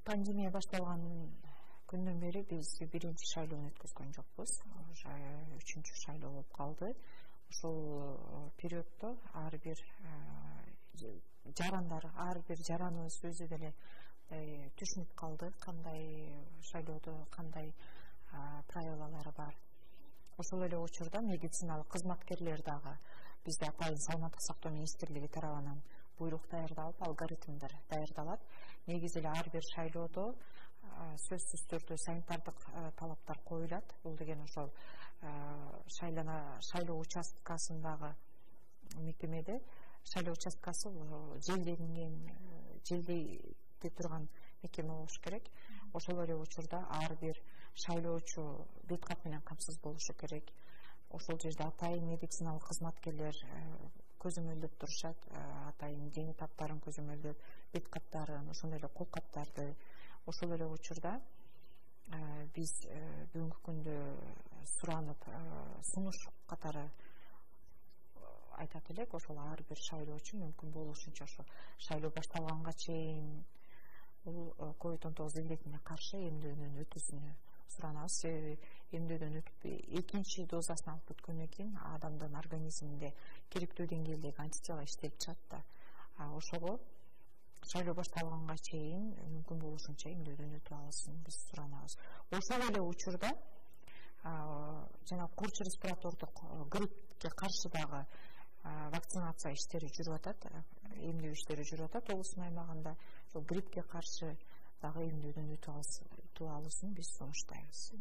Пандемия башталган күндөн бери биз биринчи шайлоону өткөзгөн жокпуз. 3-чү шайлоо болуп калды. Ошол периоддо ар бир жарандар, ар бир жараныбыз өзү деле түшүнүп калды, кандай шайлоодо кандай правилалары бар. Ошол эле учурда медициналык кызматкерлер дагы бизде Атайын саламаттык сактоо министрлиги тарабынан буйрук даярдалып, алгоритмдер даярдалат. Негизи эле ар бир шайлоодо сөзсүз түрдө санитардык талаптар коюлат. Бул деген ошол шайлоо участкасындагы мекемеде шайлоо участкасы желдейде турган мекеме болуш керек. Ошол эле учурда ар бир шайлоочу бет кат менен камсыз болушу керек. Ошол жерде атайын медициналык кызматкерлер көзөмөлдөп турушат. Атайын дени таптарын көзөмөлдөп, бет каттарын, ошондой эле кол каптарды. Ошол эле учурда биз бүгүнкү күндө суранып сунуш катары айтат элек, ошол ар бир шайлоочу мүмкүн болушунча ошо шайлоо башталганга чейин бул COVID-19 илдетине каршы эмдөөдөн өтүүсүнү суранабыз. Себеби эмдөөдөн өтүп экинчи дозасын алып бүткөндөн кийин адамдын организминде керектүү деңгээлдеги антитела иштелип чыгат да. Ошого шайлоо башталганга чейин мүмкүн болушунча эмдөөдөн өтүп алысын биз суранабыз. Ошол эле учурда жана курч респиратордук гриппке каршы дагы вакцинация иштери жүрүп атат, эмдөө иштери жүрүп атат облустун аймагында. Ошол гриппке каршы дагы эмдөөдөн өтүп алысын биз сунуштайбыз.